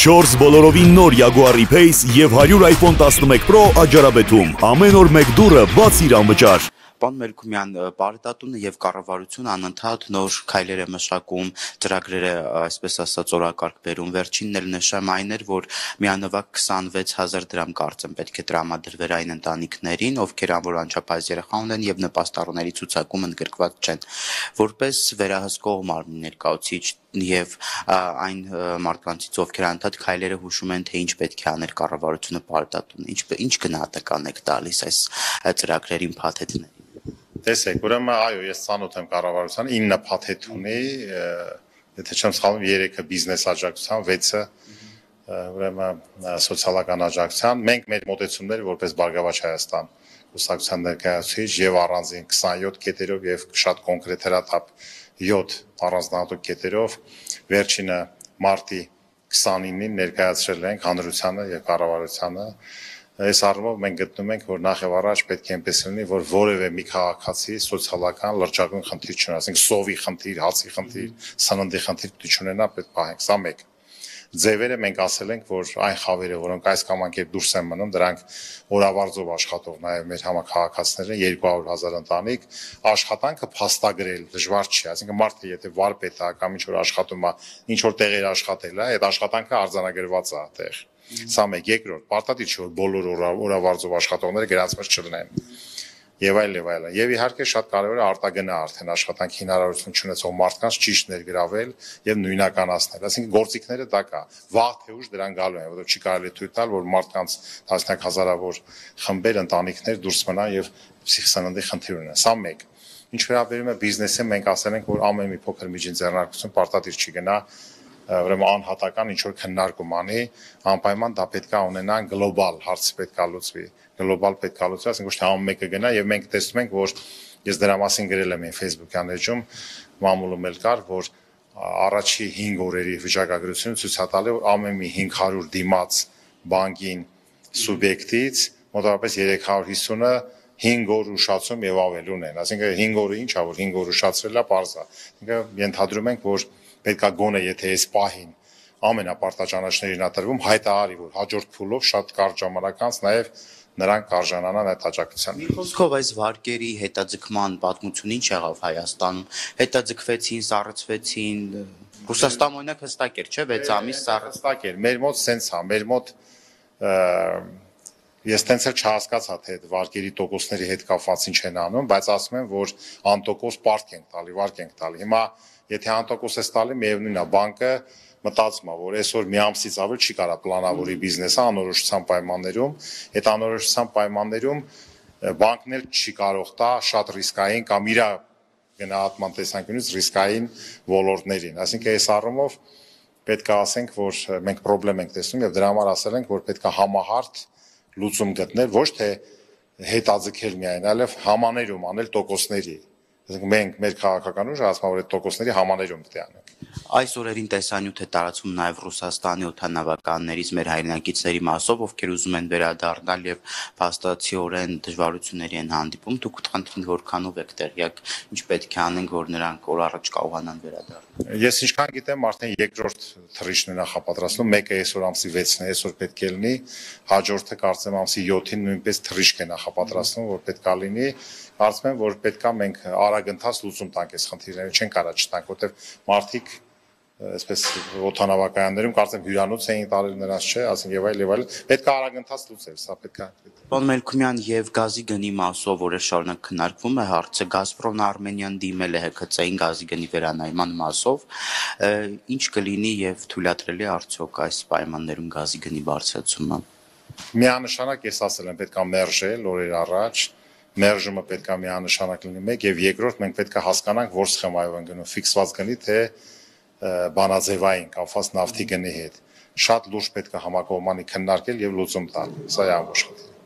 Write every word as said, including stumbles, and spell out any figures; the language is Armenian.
չորս բոլորովին նոր Jaguar E-Pace և հարյուր iPhone տասնմեկ Pro աճարաբեթում։ Ամեն օր մեկ դուռը բացիր անվճար։ Պարոն Մելքումյան, Բարետատունը եւ կառավարությունը անընդհատ նոր քայլեր է մշակում, ծրագրեր է, այսպես ասած, օրակարգ բերում։ Վերջինն էլ նշեմ այն էր, որ միանվագ քսանվեց հազար դրամ կարծեմ պետք է տրամադրվեր այն ընտանիքներին, ովքեր անոր անչափահաս երեխա ունեն եւ նպաստառուների ցուցակում ընդգրկված չեն։ Որպես վերահսկող մարմնի ներկայացուցիչ եւ այն մարդկանցից, ովքեր անընդհատ քայլերը հուշում են, թե ինչ պետք է անել կառավարությունը Բարետատունը, ինչ ինչ գնահատական եք տալիս այս ծրագրերին, փաթեթներին։ Տեսեք, ուրեմն այո, ես ծանոթ եմ կառավարությանը, ինը փաթեթ ունի, եթե չեմ սխալվում, երեքը բիզնես աջակցության, վեցը ուրեմն սոցիալական աջակցության։ Մենք մեր մոտեցումները որպես Բարգավաճ Հայաստան կուսակցության ներկայացուցիչ եւ առանձին քսանյոթ կետերով եւ շատ կոնկրետ հրաթափ յոթ առանձնահատուկ կետերով վերջինը մարտի քսանինին ներկայացրել ենք հանրությանը եւ կառավարությանը։ Այս առումով մենք գտնում ենք, որ նախ եւ առաջ պետք է այնպես լինի, որ որևէ մի քաղաքացի սոցիալական լրջագույն խնդիր չունենա, ասենք սովի խնդիր, հացի խնդիր, սննդի խնդիր չունենա, պետք պահենք, սա մեկ։ Ձևերը մենք ասել ենք, որ այն խավերը, որոնք այս կամ այն կերպ դուրս են մնում, դրանք օրավարձով աշխատող նաև մեր համակարգացիներն երկու հարյուր հազար ընտանիք, աշխատանքը փաստագրել դժվար չի, այսինքն մարդը եթե վարպետ է կամ ինչ որ աշխատում է, ինչ որ տեղեր աշխատել է, այդ աշխատանքը արձանագրված է այդտեղ։ Սա մեկ, երկրորդ, պարտադիր չէ որ բոլոր օրավարձով աշխատողները գրանցված չլինեն։ Եվ այլ եւ այլն։ Եվ իհարկե շատ կարևոր է արտագնա արդեն աշխատանքի հնարավորություն չունեցող մարդկանց ճիշտ ներգրավել եւ նույնականացնել։ Այսինքն գործիքները դա կա։ Վաղ թե ուշ դրան գալու են, որովհետեւ չի կարելի թույլ տալ, որ մարդկանց տասնյակ հազարավոր խմբեր, ընտանիքներ դուրս մնան եւ սննդի խնդիր ունենան։ Սա մեկ։ Ինչ վերաբերում է բիզնեսին, մենք ասել ենք, որ ամեն մի փոքր միջին ձեռնարկություն պարտադիր չի գնա ուրեմն անհատական ինչ որ քննարկում անի, անպայման դա պետք է ունենան գլոբալ հարցը պետք է լուծվի, գլոբալ պետք է լուծվի, ասենք ոչ թե ամեն մեկը գնա եւ մենք տեսնում ենք, որ ես դրա մասին գրել եմ իմ Facebook-յան էջում, մամուլում էլ կար, որ առաջի հինգ օրերի վիճակագրությունը ցույց է տալի, որ ամեն մի հինգ հարյուր դիմաց բանկին սուբյեկտից մոտավորապես երեք հարյուր հիսունը հինգ օր ուշացում եւ ավել ունեն, այսինքն հինգ օրը ինչ է, որ հինգ օր ուշացրելա պարզ է, այսինքն ենթադրում ենք, որ պետք է գոնե եթե այս պահին ամենապարտաճանաչներին ատրվում հայտարարի, որ հաջորդ փուլով շատ կարճ ժամանակ անց նաև նրանք կարժանանան այդ աջակցության։ Մի խոսքով այս վարկերի հետաձգման պատմությունը ինչ եղավ Հայաստանում։ Հետաձգվեցին, սառեցվեցին, Ռուսաստան օրինակ հստակ էր, չէ՞, վեց ամիս հստակ էր։ Մեր մոտ սենց է, մեր մոտ ես տենց էլ չհասկացա, թե այդ վարկերի տոկոսների հետ կապված ինչ են անում, բայց ասում են, որ անտոկոս պարտք ենք տալի, վարկ ենք տալի։ Հիմա եթե անտոկոս ես տալի, միևնույնն է, բանկը մտածում է, որ այսօր մի ամսից ավել չի կարա պլանավորի բիզնեսը անորոշության պայմաններում, այդ անորոշության պայմաններում բանկն էլ չի կարող տա շատ ռիսկային կամ իր գնահատման տեսանկյունից ռիսկային ոլորտներին։ Այսինքն այս առումով պետք է ասենք, որ մենք խնդրեմ ենք տեսնում եւ դրա համար ասել ենք, որ պետք է համահարթ լուծում գտնել, ոչ թե հետաձգել միայն, այլև համաներում անել տոկոսների։ Այսինքն մենք մեր քաղաքական ուժը ասում որ այդ տոկոսների համաներում պետք է անենք։ Այս օրերին տեսանյութ է տարածվում նաև Ռուսաստանի օդանավականներից մեր հայրենակիցների մասով, ովքեր ուզում են վերադառնալ եւ փաստացիորեն դժվարությունների են հանդիպում։ Դուք խնդրին որքանով եք տեղյակ, ինչ պետք է անենք, որ նրանք օր առաջ կարողանան վերադառնալ։ Ես ինչքան գիտեմ, արդեն երկրորդ թռիչքն է նախապատրաստվում, մեկը այսօր ամսի վեցն է, այսօր պետք է լինի, հաջորդը կարծեմ ամսի յոթին նույնպես թռիչք է նախապատրաստվում, որ պետք է լինի։ Կարծում եմ, որ պետք է մենք արագընթաց լուծում տանք այս խնդիրները, չեն կարա չտանք, որտեղ մարդիկ այսպես օդանավակայաններում կարծեմ հյուրանոց էին տարել նրանց չէ, ասենք եւ այլ եւ այլ, պետք է արագընթաց լուծել, սա պետք է։ Պարոն Մելքումյան, եւ գազի գնի մասով որը շարունակ քննարկվում է հարցը, Գազպրոմն Արմենիան դիմել է Հ K C-ին գազի գնի վերանայման մասով, ինչ կլինի եւ թույլատրելի արդյոք այս պայմաններում գազի գնի բարձրացումը։ Միանշանակ ես ասել եմ, պետք է մերժել օրեր առաջ, մերժումը պետք է միանշանակ լինի մեկ եւ երկրորդ մենք պետք է հասկանանք, որ սխեմայով են գնում ֆիքսված գնի, թե բանաձևային կապված նավթի գնի հետ։ Շատ լուրջ պետք է համակողմանի քննարկել եւ լուծում տալ։ Սա է ամբողջ խնդիրը։